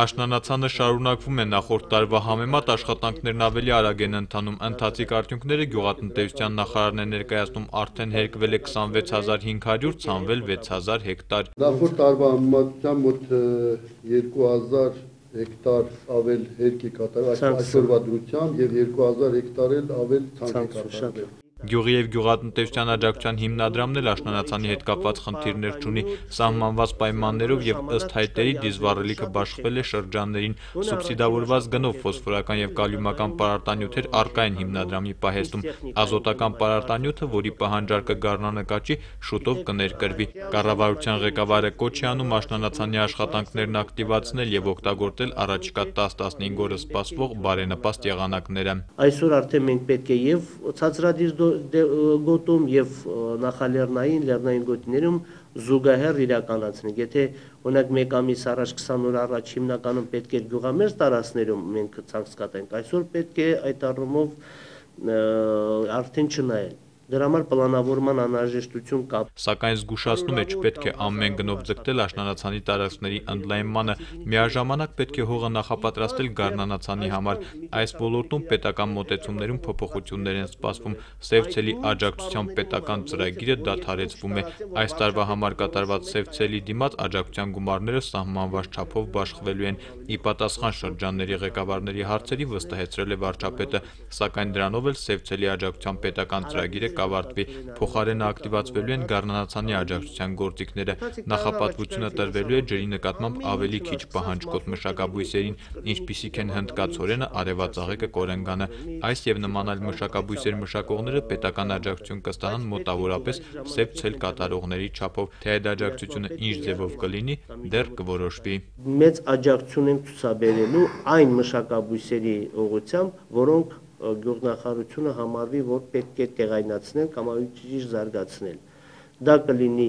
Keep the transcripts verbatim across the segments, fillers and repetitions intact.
Աշնանացանը շարունակվում է նախորդ տարվա համեմատ աշխատանքներն ավելի արագ են ընթանում, ընթացիկ արդյունքները գյուղատնտեսության նախարարն է ներկայացնում, արդեն հերկվել է քսանվեց հազար հինգ հարյուր, ցանվել վեց հազար հեկտար։ Նախորդ տարվա համեմատությամբ մոտ երկու հազար հեկտար ավել հերկ է կատարվել այսօրվա դրությամբ եւ երկու հազար հեկտար էլ ավել ցանկ է կատարվել։ Գյուղի և գյուղատնտեսության աջակցության հիմնադրամն էլ աշնանացանի հետ կապված խնդիրներ չունի, սահմանված պայմաններով եւ ըստ հայտերի դիզվառելիքը բաշխվել է շրջաններին, սուբսիդավորված գնով ֆոսֆորական եւ կալիումական պարարտանյութեր առկա են հիմնադրամի պահեստում, ազոտական պարարտանյութը, որի պահանջարկը գարնանկաճի, շուտով կներկրվի։ Կառավարության ղեկավարը կոչ է անում աշնանացանի աշխատանքներն ակտիվացնել եւ օգտագործել առաջիկա տասը տասնհինգ օրը սպասվող բարենպաստ եղանակները։ Այսօր արդեն մենք պետք է եւ ցածրադիր գոտում եւ նախալեռնային լեռնային գոտիներում զուգահեռ իրականացնենք։ Եթե օրինակ մեկ ամիս առաջ քսան օր առաջ հիմնականում պետք է գյուղամերձ տարածքներում մենք ցանց կատարենք, այսօր պետք է այդ առումով արդեն չնայել։ Դրա համար պլանավորման անհրաժեշտություն կա։ Սակայն զգուշացնում է, չպետք է ամեն գնով ձգտել աշնանացանի տարածքների ընդլայնմանը, միաժամանակ պետք է հողը նախապատրաստել գարնանացանի համար։ Այս ոլորտում պետական մոտեցումներում փոփոխություններ են սպասվում, Սևցելի աջակցությամբ պետական ծրագիրը դադարեցվում է։ Այս տարվա համար կատարված Սևցելի դիմաց աջակցության գումարները սահմանված չափով բաշխվելու են։ Ի պատասխան շրջանների ղեկավարների հարցերի վստահեցրել է վարչապետը, սակայն դրանով էլ Սևցելի աջակցության պետական ծրագիրը կավարտվի, փոխարենը ակտիվացվելու են գարնանացանի աջակցության գործիքները, նախապատվությունը տրվելու է ջրի նկատմամբ ավելի քիչ պահանջկոտ մշակաբույսերին, ինչպիսիք են հնդկացորենը, արևածաղիկը, կորենգանը։ Այս եւ նման այլ մշակաբույսեր մշակողները պետական աջակցություն կստանան մոտավորապես Սևցել կատարողների չափով, թե այդ աջակցությունը ինչ ձևով կլինի, դեռ կորոշվի։ Մեծ աջակցություն ենք ցուցաբերելու այն մշակաբույսերի ուղղությամբ, որոնք գյուղնախարությունը համարվի, որ պետք է տեղայնացնել կամ ավելի ճիշտ զարգացնել։ Դա կլինի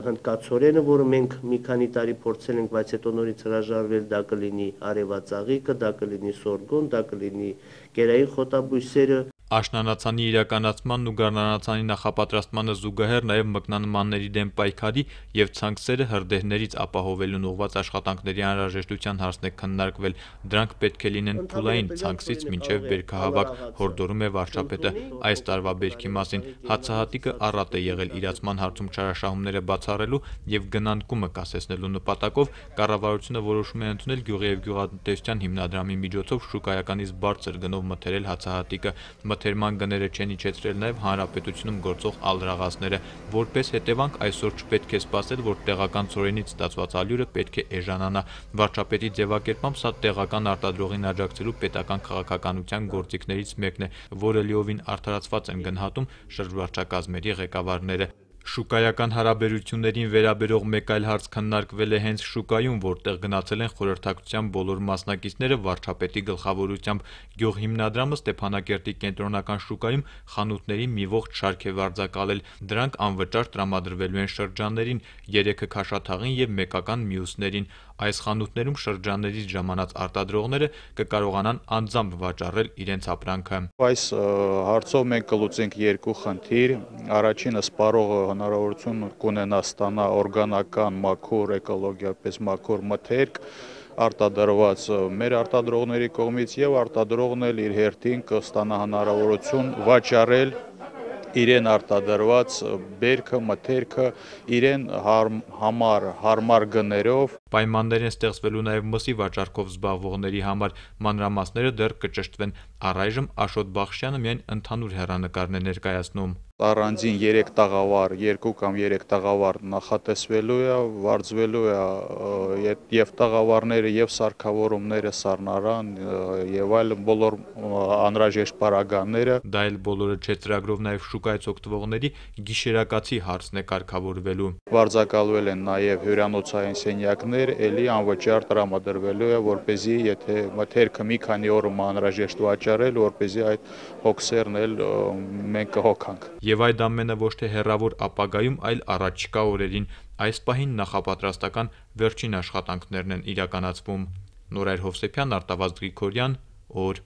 հնդկացորենը, որը մենք մի քանի տարի փորձել ենք, բայց հետո նորից հրաժարվել, դա կլինի արևածաղիկը, դա կլինի սորգոն, դա կլինի կերային խոտաբույսերը։ Աշնանացանի իրականացմանն ու գարնանացանի նախապատրաստմանը զուգահեռ նաև մկնանմանների դեմ պայքարի եւ ցանքսերը հրդեհներից ապահովելուն ուղղված աշխատանքների անհրաժեշտության հարցն է քննարկվել։ Դրանք պետք է լինեն փուլային ցանքսից մինչև բերքահավաք, հորդորում է վարչապետը։ Այս տարվա բերքի մասին հացահատիկը առատ է եղել իրացման հարցում չարաշահումները բացառելու եւ գնանկումը կասեցնելու նպատակով կառավարությունը որոշում է ընդունել գյուղի եւ գյուղատնտեսության հիմնադրամի միջոցով շուկայականից բարձր գնով մթերել հացահատիկը։ Մթերման գները չեն իջեցրել նաև հանրապետությունում գործող ալրաղացները, որպես հետևանք այսօր չպետք է սպասել, որ տեղական ծորենից ստացված ալյուրը պետք է էժանանա։ Վարչապետի ձևակերպամբ սա տեղական արտադրողին աջակցելու պետական քաղաքականության գործիքներից մեկն է, որը լիովին արդարացված են գնահատում շրջվարչակազմերի ղեկավարները։ Շուկայական հարաբերություններին վերաբերող մեկ այլ հարց քննարկվել է հենց շուկայում, որտեղ գնացել են խորհրդակցության բոլոր մասնակիցները վարչապետի գլխավորությամբ։ Գյուղ հիմնադրամը Ստեփանակերտի կենտրոնական շուկայում խանութների մի ողջ շարք է վարձակալել։ Դրանք անվճար տրամադրվելու են շրջաններին, երեքը Քաշաթաղին եւ մեկական մյուսներին։ Այս խանութներում շրջաններից ժամանած արտադրողները կկարողանան անձամբ վաճառել իրենց ապրանքը։ Այս հարցով մենք կլուծենք երկու խնդիր։ Առաջինը սպառողը հնարավորություն կունենա ստանա օրգանական, մաքուր, էկոլոգիապես մաքուր մթերք արտադրված մեր արտադրողների կողմից եւ արտադրողն էլ իր հերթին կստանա հնարավորություն վաճառել իրեն արտադրված բերքը, մթերքը իրեն համար հարմար գներով։ Պայմաններ են ստեղծվելու նաև մսի վաճառքով զբաղվողների համար, մանրամասները դեռ կճշտվեն։ Առայժմ Աշոտ Բախշյանը միայն ընդհանուր հեռանկարն է ներկայացնում։ Առանձին երեք տաղավար, երկու կամ երեք տաղավար նախատեսվելու է, վարձվելու է եւ տաղավարները եւ սարքավորումները, սառնարան եւ այլ բոլոր անհրաժեշտ պարագաները։ Դա էլ բոլորը չէ, ծրագրով նաև շուկայից օգտվողների գիշերակացի հարցն է կարգավորվելու։ Վարձակալվել են նաև հյուրանոցային սենյակներ, ելի անվճար տրամադրվելու է, որպեսզի եթե մթերքը մի քանի օրում անհրաժեշտ վաճառել, որպեսզի այդ հոգսերն էլ մենք կհոգանք։ Եվ այդ ամենը ոչ թե հեռավոր ապագայում, այլ առաջիկա օրերին։ Այս պահին նախապատրաստական վերջին աշխատանքներն են իրականացվում։ Նորայր Հովսեփյան, Արտավազդ Գրիգորյան, օր